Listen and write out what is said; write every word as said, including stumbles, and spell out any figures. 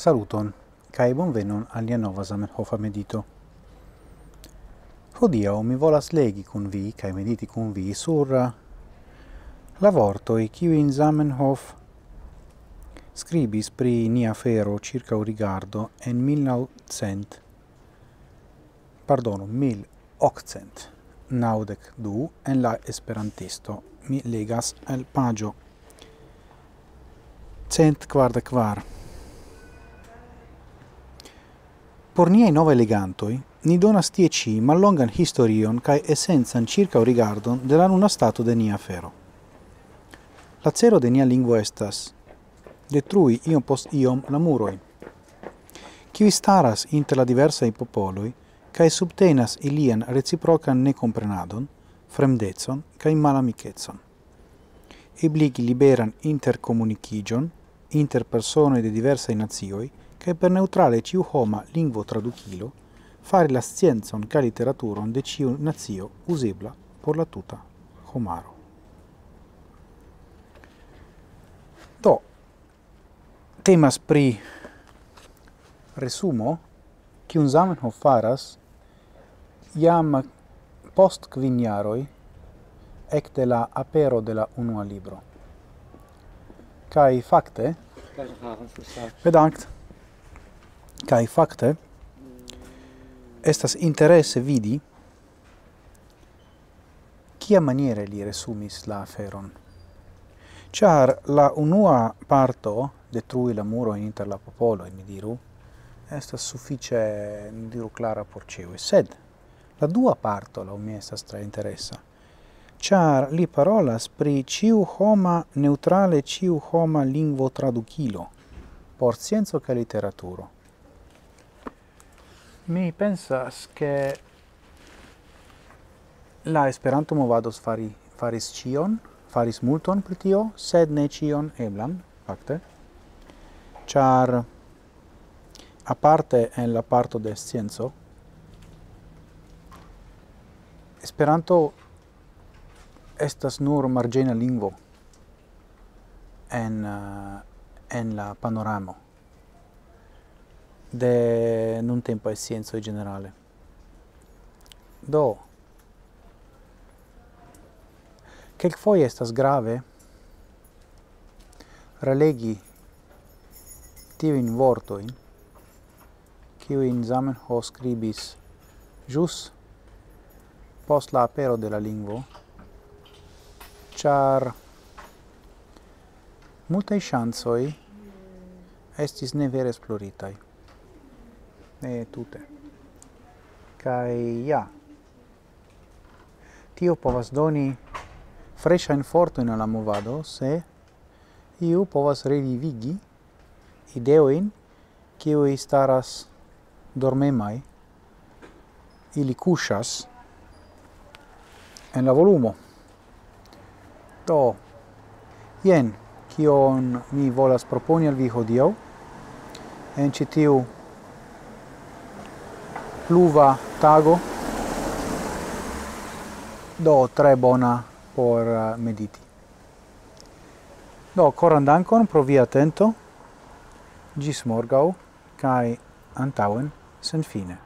Saluton, kaj bonvenon al nia nova Zamenhofa medito. Hodiaŭ mi volas legi kun vi kaj mediti kun vi sur, eh, la vortoj, kiujn Zamenhof skribis pri nia afero ĉirkaŭ rigardo en mil naŭcent, pardonu, mil okcent naŭdek du en la Esperantisto. Mi legas el paĝo cent kvardek kvar. Por niaj novaj legantoj, ni donas tie ĉi mallongan historion kaj esencan ĉirkaŭrigardon de la nuna stato de nia afero. La celo de nia lingvo estas detrui iom post iom la muroj, kiuj staras inter la diversaj popoloj kaj subtenas ilian reciprokan nekomprenadon, fremdecon kaj malamikecon. Ebligi liberan interkomunikiĝon inter personoj de diversaj nacioj kaj per neŭtrale ĉiuhoma lingvotradukilo fari la sciencon kaj literaturon de ĉiu nacio uzebla por la tuta homaro. Do, temas pri resumo, kiun Zamenhof faras jam post kvin jaroj ekde la apero de la unua libro. Kaj fakte, bedankt, kaj fakte estas interese vidi, kiamaniere li resumis la aferon. Ĉar la unua parto, detrui la murojn inter la popoloj, ni diru, estas sufiĉe, ni diru, klara por ĉiuj. Sed la dua parto, laŭ mi, estas tre interesa. Ĉar li parolas pri ĉiuhoma, neŭtrale ĉiuhoma lingvotradukilo por scienco kaj literaturo. Mi pensas, ke la Esperanto-movado fari, faris ĉion, faris multon pri tio, sed ne ĉion eblan, fakte. Ĉar aparte en la parto de scienco, Esperanto estas nur marĝena lingvo en, eh, en la panoramo de nuntempaj sciencoj ĝenerale. Do, kelkfoje estas grave relegi tiujn vortojn, kiujn Zamenhof skribis ĵus post la apero de la lingvo, ĉar multaj ŝancoj estis ne vere esploritaj. Ne tute. Kaj ja, tio povas doni freŝajn fortojn al la movado, se iu povas revivigi ideojn, kiuj staras dormemaj, ili kuŝas en la volumo. Do, jen kion mi volas proponi al vi hodiaŭ en ĉi tiu pluva tago. Do, tre bona por, eh, mediti. Do, koran dankon pro via atento. Ĝis morgaŭ kaj antaŭen senfine.